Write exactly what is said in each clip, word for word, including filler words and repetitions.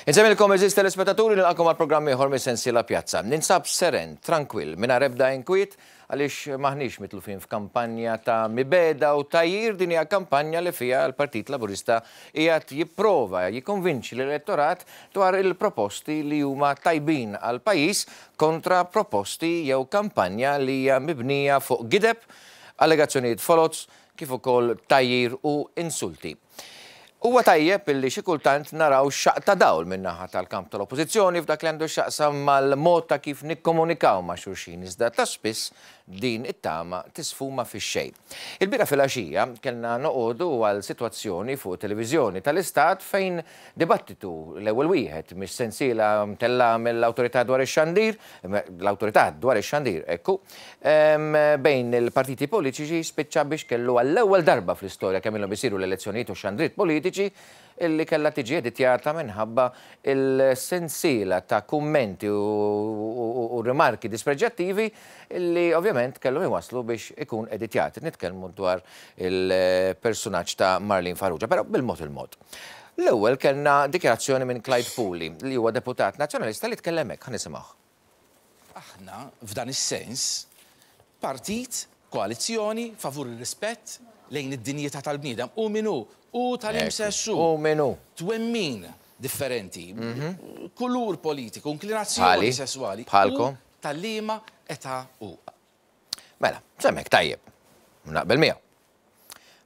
Insemmilkom eżis telespettaturi nilqakom għal programm ieħor mis-sensiela Pjazza. Ninsab seren, trankwill, mingħajr ebda inkwiet għaliex maħniex mitlufin f'kampanja ta' mibeda u tajjir. Din hija kampanja li fiha l-Partit Laburista qiegħed jipprova jikkonvinċi l-elettorat dwar il-proposti li huma tajbin għal pajjiż kontra proposti jew kampanja li hija mibnija fuq gideb, allegazzjonijiet foloz, kif ukoll tajjir u insulti. Huwa tajjeb illi xi kultant naraw xaq ta' dawl min-naħa tal-kamp tal-Oppożizzjoni f'dak li għandu x'jaqsam mal-mod ta' kif nikkomunikaw ma' xulxin, iżda ta' spiss din it-tama tisfuma fix-xejn. Il-bieraħ filgħaxija kellna noqogħdu għal sitwazzjoni fuq televiżjoni tal-Istat fejn dibattitu l-ewwel wieħed mis-sensiela mtella mill-Awtorità dwar ix-Xandir, l-Awtorità dwar ix-Xandir, ekku, bejn il-partiti politiċi spiċċa biex kellu għall-ewwel darba fl-istorja kemm ilhom isiru l-elezzjonijiet u xandriet politiċi illi kellha tiġi editjata minħabba il-sensiela ta' kummenti u rimarki dispreġjattivi illi ovvjament kellhom iwasslu biex ikun editjat. Nitkellmu dwar il-personaġġ ta' Marlene Farrugia, però bil-mod il-mod. L-ewwel kellna dikjarazzjoni minn Clyde Puli, li huwa deputat nazzjonalista li tkellem hekk, ħa nisimgħuh. Aħna f'dan is-sens partit, koalizzjoni favur ir-rispett lejn id-dinjità tal-bniedem u min hu u tal-imsessu. U min hu. Twemmin differenti, kulur politiku, inklinazzjoni sessuali. Bħalkom. Tal-liema età u. Mela, semmek tajjeb, naqbel miegħu.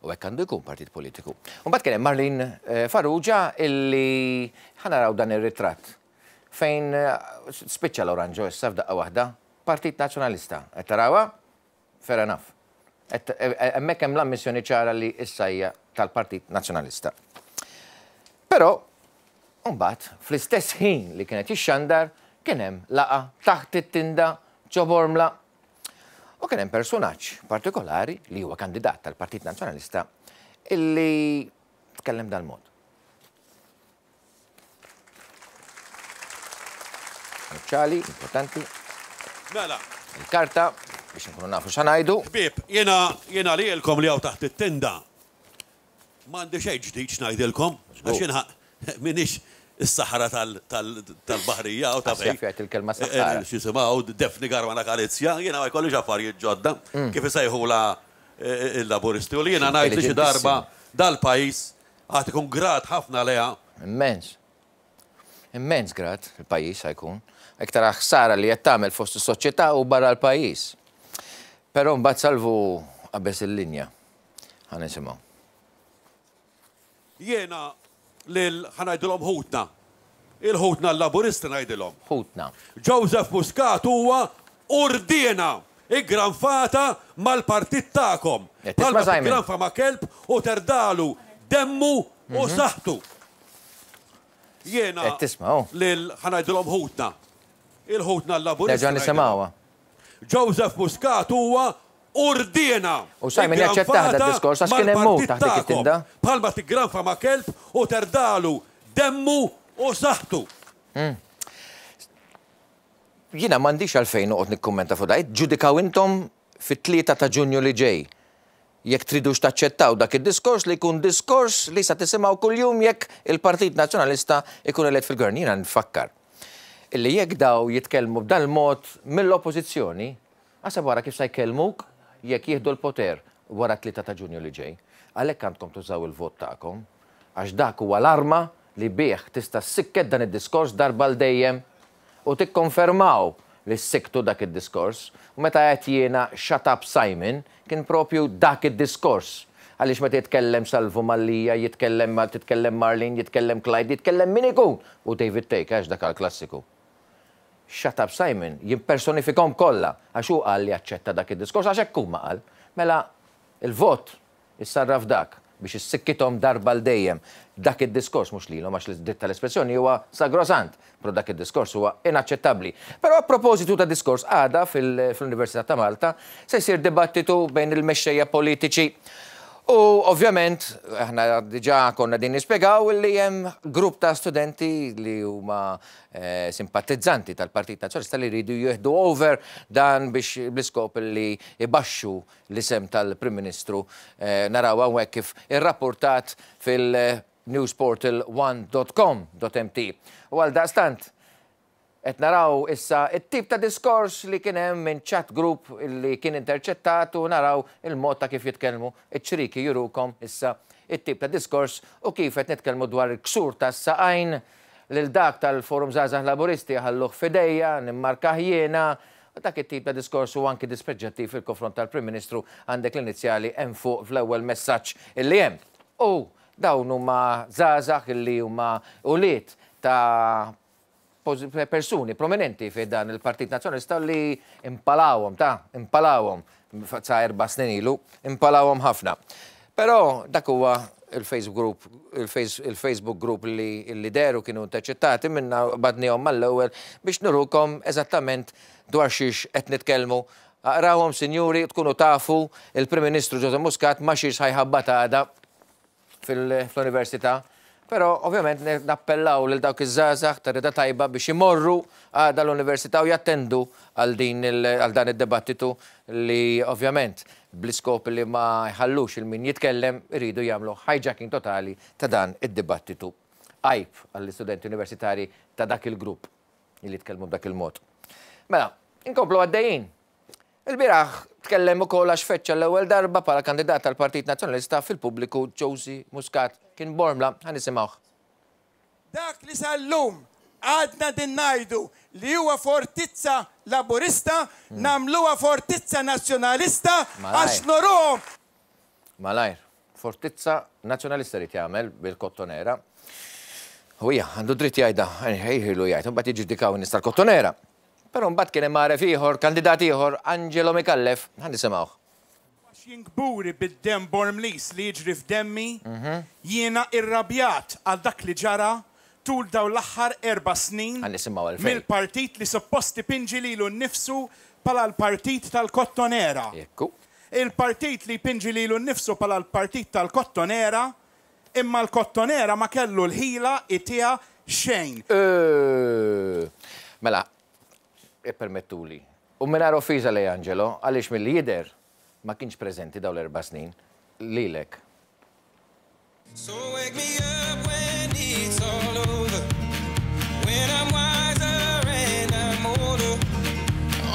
U hekk għandu jkun partit politiku. U mbagħad kien hemm Marlene Farrugia illi ħa naraw dan ir-ritratt fejn spiċċa l-oranġo issa f'daqqa waħda, Partit Nazzjonalista. Qed tarawha? Fair enough. Hemmhekk hemm l-ammissjoni ċara li issa hija tal-Partit Nazzjonalista. Però mbagħad fl-istess ħin li kienet jixxandar kien hemm laqa taħt it-tinda ġo Bormla u kien hemm personaġġ partikolari li huwa kandidat tal-Partit Nazzjonalista illi tkellem dal-mod. Ċali, importanti. Mela. Il-karta biex nkunu nafu x'ngħidu. Ħbieb, jiena jiena lilkom li hawn taħt it-tinda. M'għandi xejn ġdid x'ngħidilkom, għax jiena m'iniex is-saħra tal-baħrija u ta' fejn. Jgħid il-kelma saħħara. X'isimgħu Daphne Caruana Galizia, jiena ma jkollix affarijiet ġodda kif isejħula il-Laburisti u li jiena ngħid li xi darba dal-pajjiż għad ikun grat ħafna leha. Immens. Immens grat il-pajjiż ħajkun. Iktar ħsara li qed tagħmel fost is-soċjetà u barra l-pajjiż. Però mbagħad Salvu qabeż il-linja. Ħa nisimgħu. Jiena lil ħa ngħidilhom ħutna. Il-ħutna l-Laburisti ngħidilhom. Ħutna. Joseph Muscat huwa urdiena iggranfata mal-partit tagħkom. Bħalma tiggranfa ma' kelb u terdalu demmu u saħħtu. Jiena lil ħa ngħidilhom ħutna. Il-ħutna l-Laburisti. Nerġa' nisimgħuha. Joseph Muscat huwa urdiena. U Simon jaċċettaħ da diskors għax kien hemm hu taħt dik it-tinda. Bħalma tiggranfa ma' kelb u terdalu demmu u saħħtu. Jiena m'għandix għalfejn noqgħod nikkummenta fuq dan. Ġudikaw intom fit-tlieta ta' Ġunju li ġej. Jekk tridux taċċettaw dak id-diskors li jkun diskors li sa tisimgħu kuljum jekk il-Partit Nazzjonalista jkun elett fil-gvern. Jiena nfakkar illi jekk daw jitkellmu b'dan il-mod mill-Oppożizzjoni, għasab wara kif sa jkellmuk jekk jieħdu l-poter wara tlieta ta' Ġunju li ġej. Għalhekk għandkom tużaw il-vot tagħkom, għax dak huwa l-arma li bih tista' ssikket dan id-diskors darba l dejjem u tikkonfermaw li ssiktu dak id-diskors. U meta qed jiena shut up Simon kien propju dak id-diskors. Għaliex meta jitkellem Salvu Mallia, jitkellem titkellem Marlene, jitkellem Clyde, jitkellem min ikun u David Thake, għax dak għall-klassiku. Shut up Simon jimpersonifikhom kollha għax hu qal li aċċetta dak id-diskors għax hekk huma qal. Mela il-vot issarraf dak biex issikkithom darba l dejjem. Dak id-diskors mhux lilhom għax l-dritt tal-espressjoni huwa sagrosant, però dak id-diskors huwa inaċċettabbli. Però a propositu ta' diskors għada fil-Università ta' Malta se jsir dibattitu bejn il-mexxejja politiċi. U ovvjament aħna diġà konna din nispjegaw li hemm grupp ta' studenti li huma simpatizzanti tal-Partit Nazzjonalista li jridu jieħdu over dan biex bl-iskop li ibaxxu l-isem tal-Prim Ministru. Naraw hawnhekk kif irrapportat fil- newsportal one dot com dot m t. U għal daqstant, qed naraw issa it-tip ta' diskors li kien hemm minn chat group li kien interċettat u naraw il-mod ta' kif jitkellmu iċ-ċriki jurukom issa it-tip ta' diskors u kif qed nitkellmu dwar il-ksur tas-saqajn lil dak tal-Forum Żgħażagħ Laburisti ħalluh f'idejja, nimmarkah jiena, u dak it-tip ta' diskors u anki dispreġġattiv fil-konfront tal-Prim Ministru għandek l-inizjali hemm fuq fl-ewwel messaġġ illi hemm. U dawn huma żgħażagħ illi huma ulied ta' persuni prominenti fi dan il-Partit Nazzjonalista li impalawhom, ta' impalawhom sa' erba' snin ilu, impalawhom ħafna. Però dak huwa il-Facebook group, il-Facebook group li, li deru kienu interċettati minna badnihom mal-ewwel biex nurukom eżattament dwar xiex qed nitkellmu. Aqrawhom, sinjuri, tkunu tafu il-Prim Ministru Joseph Muscat ma xiex ħajħabbat għada fil-università. Però ovvjament nappellaw lil dawk iż-żgħażagħ ta' rida tajba biex imorru għada l-università u jattendu għal din għal dan id-dibattitu li ovvjament bl-iskop li ma jħallux il-min jitkellem iridu jagħmlu hijacking totali ta' dan id-dibattitu. Għajb għall-istudenti universitari ta' dak il-grupp li jitkellmu b'dak il-mod. Mela, inkomplu għaddejjin. Il-bieraħ tkellem ukoll għax feċċa l-ewwel darba bħala kandidat tal-Partit Nazzjonalista fil-pubbliku Josie Muscat kien Bormla, ħa nisimgħuh. Dak li sal-lum għadna din ngħidu li huwa fortizza Laburista, nagħmluha fortizza Nazzjonalista għax noruhom. Malajr, fortizza Nazzjonalista rid jagħmel bil-Kottonera. U hija għandu dritt jgħidha, ħejħilu jgħid, imbagħad jiġġudikaw in-nies tal-Kottonera. Però mbagħad kien hemm għaref ieħor, kandidat ieħor, Angelo Micallef, ħa nisimgħuh. Għax jien kburi bid-demm Bormlis li jiġri f'demmi, jiena irrabjat għal dak li ġara tul dawn l-aħħar erba' snin Ħa nisimgħu għalfejn. mill-partit li suppost ipinġi lilu nnifsu bħala l-partit tal-Kottonera. Jekku. Il-partit li jpinġi lilu nnifsu bħala l-partit tal-Kottonera, imma l-Kottonera ma kellu l-ħila itiha xejn. Mela, ippermettuli. U mingħajr offiża lej Angelo, għaliex milli jidher ma kienx preżenti dawn l-erba' snin lilek. So wake me up when it's all over, when I'm wiser and I'm older.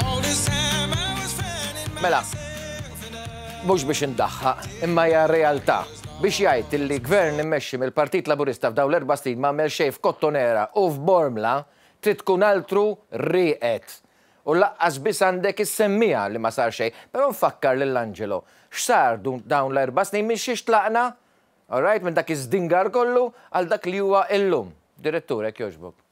All this time I was finding Mela, myself and I mhux biex indaħħaq, imma hija realtà. Biex jgħid li gvern immexxi mill-Partit Laburista f'dawn l-erba' snin ma għamel xejn f'Kottonera u f'Bormla, trid tkun altru rieqed. U laqqas biss għandek is-semmija li ma sar xejn. Però nfakkar lil Angelo, x'sar dawn l-erba' snin minn xiex tlaqna? All right, minn dak iż-żdingar kollu għal dak li huwa illum. Direttur, hekk jogħġbok.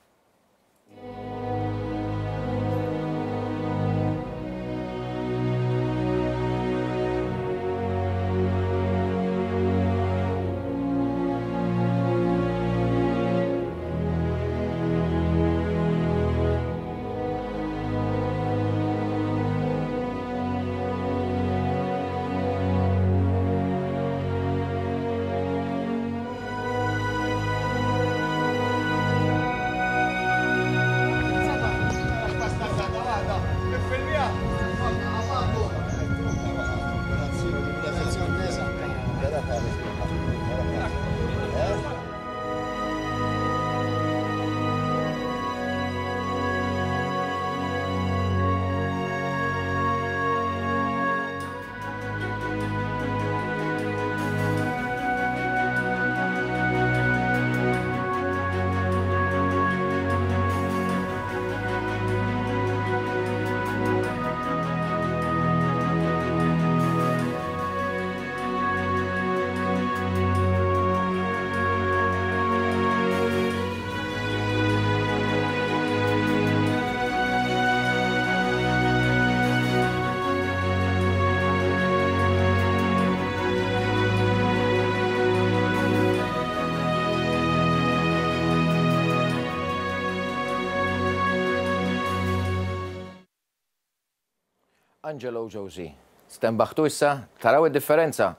Angelo Josie, stembaħtu issa, taraw id-differenza.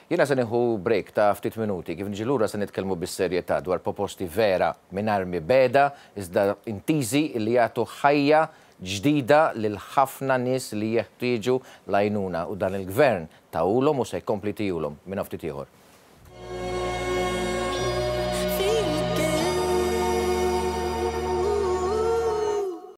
Jiena se nieħu break ta' ftit minuti, kif niġi lura se nitkellmu bis-serjetà dwar proposti vera minn armi beda, iżda intiżi li jagħtu ħajja ġdida lil ħafna nies li jeħtieġu l-għajnuna u dan il-gvern tawulhom u se jkompli tihulhom minn ftit ieħor.